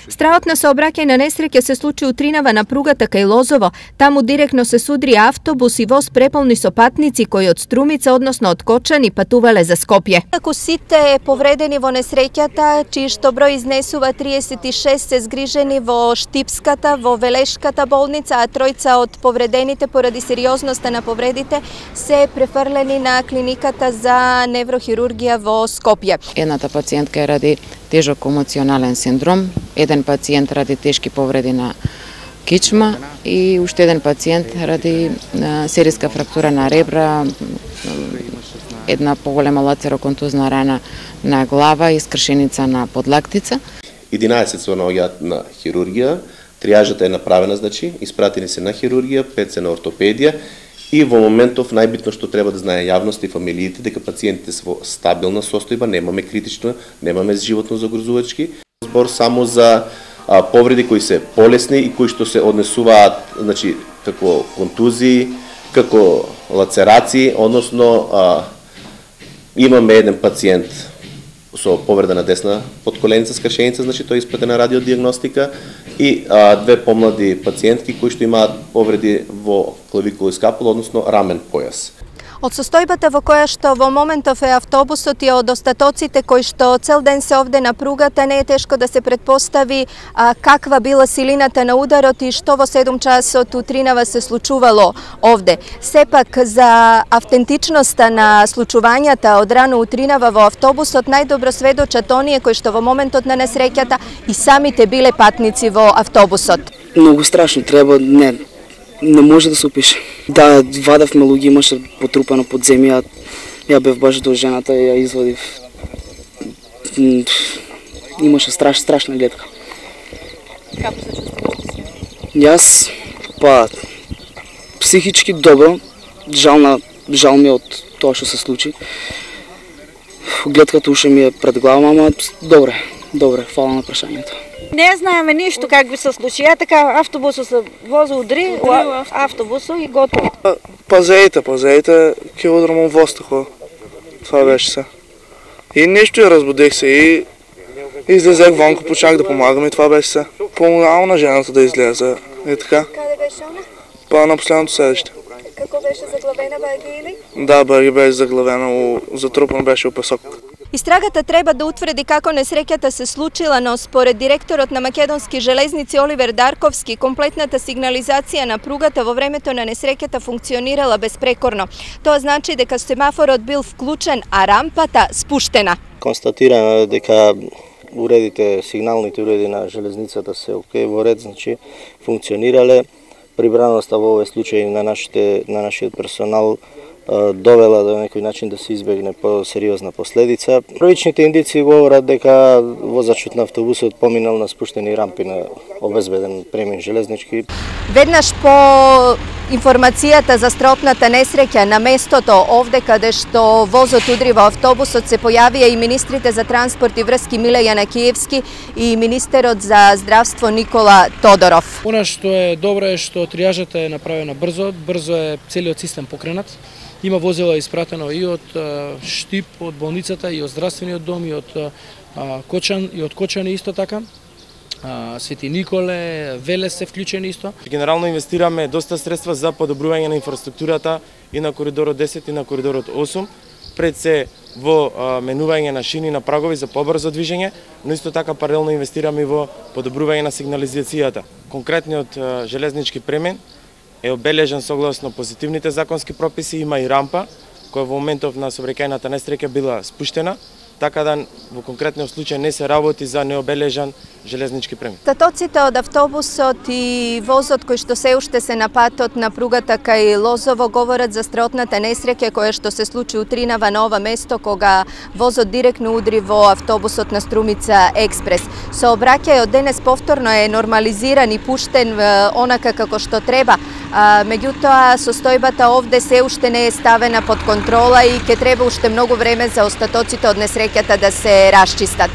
Стравот на сообраќајна несреќа се случи у Тринава на пругата кај Лозово. Таму директно се судри автобус и воз преполни со патници кои од Струмица, односно од Кочани, патувале за Скопје. Како сите повредени во несреќата, чии што број изнесува 36, се згрижени во Штипската, во Велешката болница, а тројца од повредените поради сериозноста на повредите се префрлени на клиниката за неврохирургија во Скопје. Едната пациентка е ради тежок емоционален синдром, еден пациент ради тешки повреди на кичма и уште еден пациент ради сериска фрактура на ребра, една поголема лацероконтузна рана на глава и скршеница на подлактица. 11 се наоѓаат на хирургија, триажата е направена, значи, испратени се на хирургија, 5 се на ортопедија и во моментов најбитно што треба да знае јавност и фамилиите дека пациентите се во стабилна состојба, немаме критично, немаме животно загрозувачки. Збор само за повреди кои се полесни и кои што се однесуваат, значи, како контузии, како лацерации, односно имаме еден пациент со повреда на десна подколеница скршеница, значи тој е испратена радиодиагностика и две помлади пациентки кои што имаат повреди во клавикула и скапула, односно рамен појас. Од состојбата во која што во моментов е автобусот и од остатоците кои што цел ден се овде на пругата, не е тешко да се претпостави каква била силината на ударот и што во 7 часот у Тринава се случувало овде. Сепак за автентичноста на случувањата од рано у Тринава во автобусот најдобро сведочат оние кои што во моментот на несреќата и самите биле патници во автобусот. Многу страшно, треба не може да се опише. Да, вадавме луѓе, имаше потрупано под земја, ја бев баш до жената и ја извадив. Имаше страшна гледка. Како се чувствуваш? Јас, психички добро, жал ми од тоа што се случи. Гледката уште ми е пред глава, ама добре, фала на прашањето. Не знаеме ништо как би се случи. Така автобусот се вози удри, автобусот и готово. Пазеите, ќе удрам во воздухот. Това беше се. И нешто ја разбудех се и излезех вонку, почнах да помагам и това беше се. Помогнавам на жената да излезе. И така. Каде беше она? На последното седище. Како беше заглавена баги или? Да, баги беше заглавена, затрупан беше у песок. Истрагата треба да утврди како несреќата се случила, но според директорот на Македонски железници Оливер Дарковски, комплетната сигнализација на пругата во времето на несреќата функционирала безпрекорно. Тоа значи дека семафорот бил вклучен, а рампата спуштена. Констатирано дека сигналните уреди на железницата се окей, во ред, значи функционирале. Прибраноста во овој случај на нашиот персонал довела до некој начин да се избегне по-сериозна последица. Првичните индици говорат дека возачот на автобусот поминал на спуштени рампи на обезбеден премин железнички. Веднаш по информацијата за стропната несреќа на местото овде каде што возот удри во автобусот се појавија и министрите за транспорт и врски Миле Јанакиевски и министерот за здравство Никола Тодоров. Она што е добро е што триажата е направена брзо е целиот систем покренат. Има возило испратено и од Штип, од болницата, и од здравствениот дом, и од Кочани исто така. Свети Николе, Велес се вклучени исто. Генерално инвестираме доста средства за подобрување на инфраструктурата и на коридорот 10 и на коридорот 8, пред се во менување на шини на прагови за побрзо движење, но исто така паралелно инвестираме и во подобрување на сигнализацијата. Конкретниот железнички премен е обележен согласно позитивните законски прописи, има и рампа која во моментов на сообраќајната несреќа била спуштена, така да во конкретниот случај не се работи за необележан железнички премен. Остатоците од автобусот и возот кои што се уште се на патот на пругата кај Лозово говорат за страотната несреќа која што се случи у Тринава на ова место кога возот директно удри во автобусот на Струмица Експрес. Сообраќајот денес повторно е нормализиран и пуштен онака како што треба. Меѓутоа состојбата овде се уште не е ставена под контрола и ќе треба уште многу време за остатоците од несреќата да се расчистат.